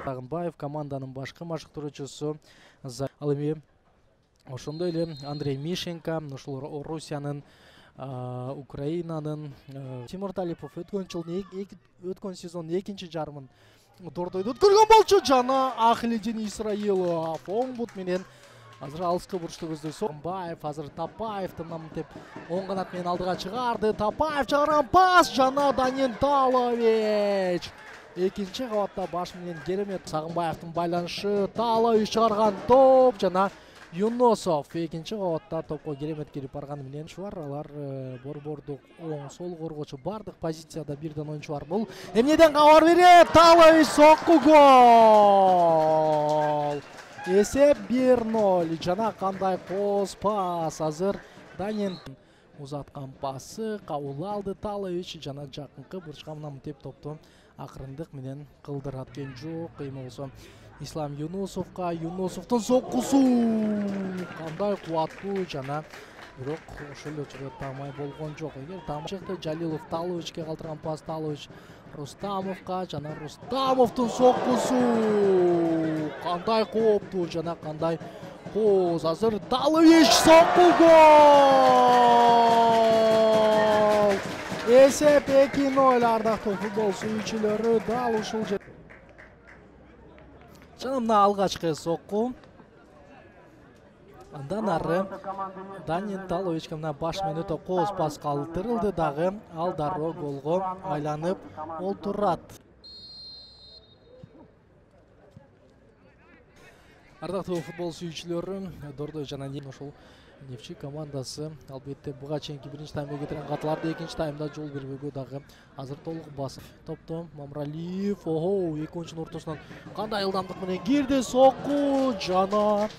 Сагынбаев команданын башкы машыктыруучусу. Ал эми ошондой эле Андрей Мишенко, ушул Орусиянын, Украинанын. Тимур Талипов өткөн сезондун экинчи жарымын Дордойдо өткөргөн болчу жана Ахлидин Исраилов оң бут менен азыр алыскы бурчту көздөй Сагынбаев, азыр Тапаевдин намынтеп оң канат менен алдыга чыгарды. Тапаев чыгарган пас жана Данин Талович экинчи кабатта баш менен керемет. Сагынбаевдин байланышы, Талович чыгарган топ жана Юнусов экинчи кабатта топко керемет кирип барганы менен бар. Алар борбордук оң сол коргоочу бардык позицияда бирден оюнчу бар. Бул эмнеден кабар берет? Талович сокку гол. Эсеп 1-0 жана кандай кооз пас. Азыр Данин узаткан пасы кабыл алды Талович жана жакынкы бурчка намынтеп топту акырындык менен кылдырат кен жок. Эми болсо Ислам Юнусовго, Юнусовдун соккусу кандай кубаттуу жана бирок ошол эле учурда тамай болгон жок. Эгер тамчыкты Жалилов Таловичке калтырган пас, Талович Рустамовго жана Рустамовдун соккусу кандай кооптуу жана кандай кооз. Азыр Талович сокку гол. Эсеп 2-0. Ардактуу футбол сүйүүчүлөрү дал ушул жана мына алгачкы сокку. Андан ары Данин Таловичке мына баш менен өтө кооз пас калтырылды дагы. Ал дароо голго айланып олтурат. Ардактуу футбол сүйүүчүлөрү, Дордой жана ошол Нефчи командасы албетте буга чейинки биринчи таймда кетирген катыларды экинчи таймда жол бербөөгө дагы азыр толук басып. Топту Мамралиев, эки ойунчунун ортосунан кандай ылдамдык менен кирди сокку жана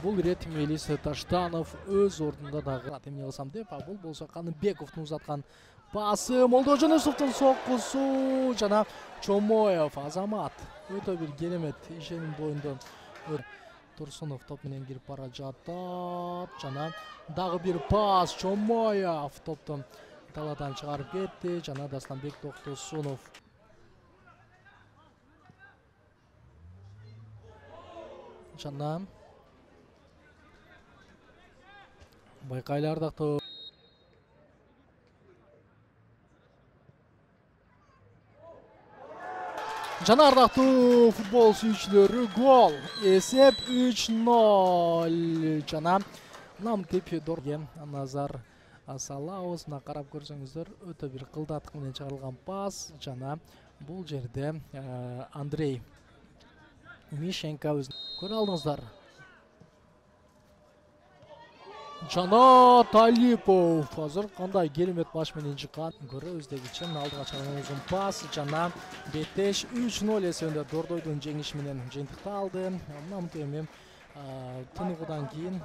бул ирет Мелис Таштанов өз ордунда дагы эмне кылсам деп, бул болсо Каныбековдун узаткан пасы, Молдожоносовдун соккусу жана Чомоев Азамат өтө бир керемет ишеним боюнда. Турсунов топ менен кирип бара жатат жана дагы бир пас. Чомоев топтун таладан чыгарып кетти жана Дастанбек Токтосунов жана байкайлы ардактуу жана ардактуу футбол сүйүүчүлөрү, гол. Эсеп 3-0 жана намтеп Дорге назар салабыз. Мына карап көрсөңүздөр өтө бир кылдаттык менен чыгарылган пас жана бул жерде Андрей Мишенко көрө алдыңыздар. Жана Талипов азыр кандай керемет баш менен чыккан. Көрөбүз дегиче алдыга чыгарган узун пас жана Бетеш 3-0 эсебинде Дордойдун жеңиши менен жыйынтыкталды. Мынамтеп эми тыныгуудан кийин